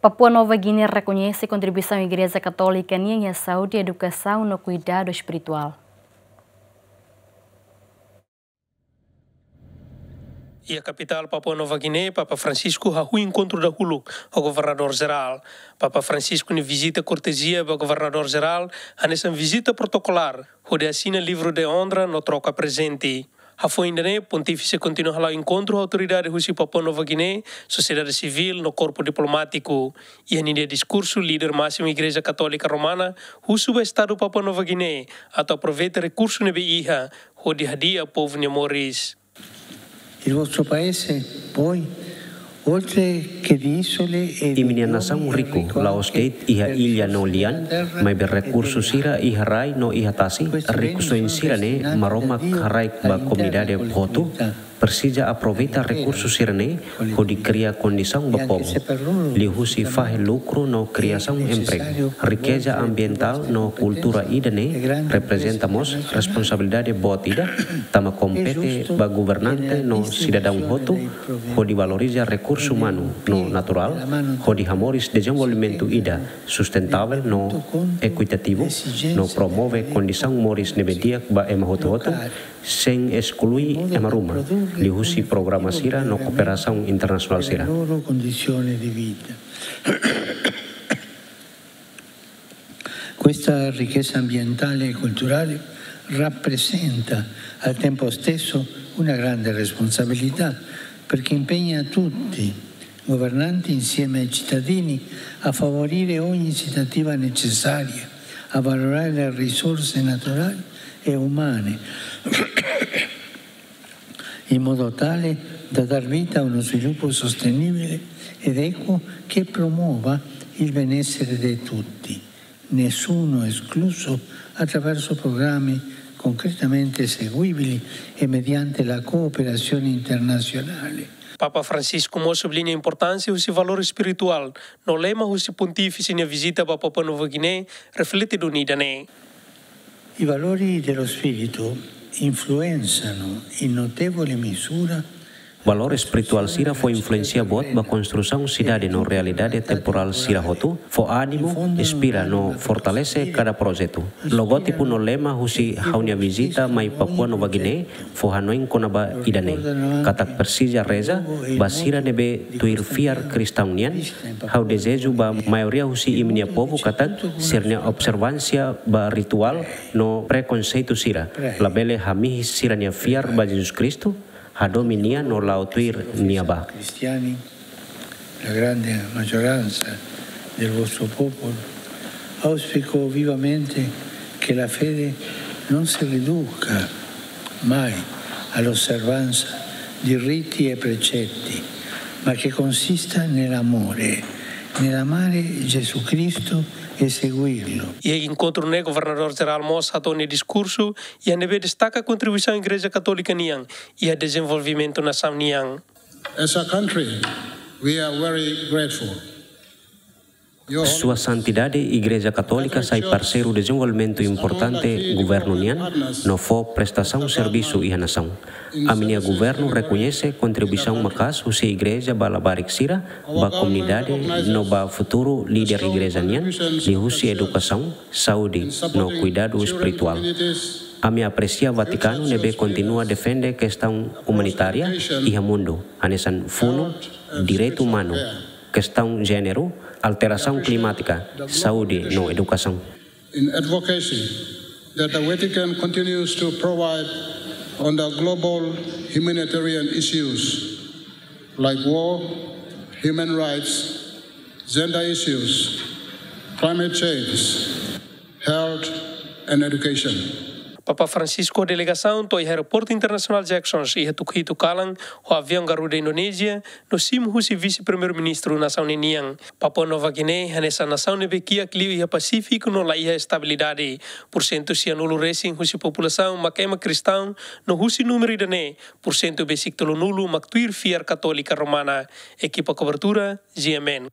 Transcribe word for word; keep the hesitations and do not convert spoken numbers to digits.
Papua Nova Guiné rekoñese kontribuisaun Igreja Katólika nian iha saúde, edukasaun no kuidadu espirituál. Iha kapitál Papua Nova Guiné, Papa Francisco hahú enkontru dahuluk ho Governadór Jerál. Papa Francisco nia vizita kortezia ba Governadór Jerál hanesan vizita protokolár, hodi asina livru de onra no troka prezente. Hafoin ida-ne'e, Pontífise kontinua hala'o enkontru ho autoridade husi Papua Nova Guiné, sosiedade sivíl no korpu diplomátiku. Iha ninia diskursu, líder másimu Igreja Katólika Romana husu ba Estadu Papua Nova Guiné atu aproveita rekursu ne'ebé iha hodi hadi'a povu nia moris. Il vostro paese, poi, oltre che di isole e di... Imi-nia nasaun riku, la'ós de'it iha illa no lian, maibé rekursu sira iha rai no iha tasi. Rikusoin sira-ne'e Maromak haraik ba komunidade hotu. Presiza aproveita rekursu sira-ne'e hodi kria kondisaun ba povu, liuhusi fahe lukru no kriasaun empregu. Rikeza ambientál no kultura ida-ne'e reprezenta mós responsabilidade boot ida, tanba kompete ba governante no sidadaun hotu hodi valoriza rekursu umanu no naturál, hodi hamoris dezenvolvimentu ida sustentável no ekuitativu, no promove kondisaun moris ne'ebé di'ak ba ema hotu-hotu, sein esklui ema ruma, liuhusi programa sira no kooperasaun internasionál sira. Questa ricchezza ambientale e culturale rappresenta al tempo stesso una grande responsabilità, perché impegna tutti, governanti insieme ai cittadini, a favorire ogni iniziativa necessaria a valorizzare le risorse naturali e umane, in modo tale da dar vita a uno sviluppo sostenibile ed equo che promuova il benessere di tutti, nessuno escluso, attraverso programmi concretamente eseguibili e mediante la cooperazione internazionale. Papa Francisco mós subliña importánsia husi valór espirituál no lema husi Pontífise nia vizita ba Papua Nova Guiné reflete duni ida-ne'e. I valori dello spirito influenzano in notevole misura. Valór espirituál sira fó influénsia boot ba konstrusaun sidade no realidade temporál sira hotu, fó ánimu, inspira no fortalese kada projetu. Logótipu no lema husi ha'u-nia vizita mai Papua Nova Guiné fó hanoin kona-ba ida-ne'e, katak presiza reza ba sira ne'ebé tuir fiar kristaun nian. Ha'u dezeju ba maioria husi imi-nia povu katak sira-nia observánsia ba rituál no prekonseitu sira labele hamihis sira-nia fiar ba Jesus Kristu, hadomi Nia no la'o tuir Nia bá. La grande maggioranza del vostro popolo, auspico vivamente che la fede non si riduca mai all'osservanza di riti e precetti, ma che consista nell'amore, nell'amare Gesù Cristo e seguirlo. Iha enkontru ne'e, Governadór Jerál mós hato'o nia diskursu, iha ne'ebé destaka kontribuisaun Igreja Katólika nian iha dezenvolvimentu nasaun nian. As a country, we are very grateful. Your Sua Santidade, Igreja Katólika sai parseiru dezenvolvimentu importante governu nian, no fó prestasaun servisu iha nasaun. Ami-nia governu rekoñese kontribuisaun maka'as husi Igreja ba labarik sira, ba komunidade, no ba futuru líder Igreja nian, liuhusi edukasaun, saúde, no kuidadu espirituál. Ami apresia Vatikanu ne'ebé kontinua defende kestaun umanitária iha mundu, hanesan funu, direitu umanu, kestaun jéneru, alterasaun klimátika, saúde no edukasaun. In advocacy that the Vatican continues to provide on the global humanitarian issues like war, human rights, gender issues, climate change, health and education. Papa Francisco ho delegasaun to'o iha Aeroportu Internasionál Jackson iha Tukuhitu kalan, ho aviaun Garuda Indonézia, no simu husi Vise-Primeiru-Ministru nasaun ne'e nian. Papua Nova Guiné hanesan nasaun ne'ebé kiak liu iha Pasífiku no la iha estabilidade. Porsentu sianulu resin husi populasaun mak ema kristaun, no husi númeru ida-ne'e, porsentu besik tolunulu mak tuir fiar Katólika Romana. Ekipa kobertura, G M N.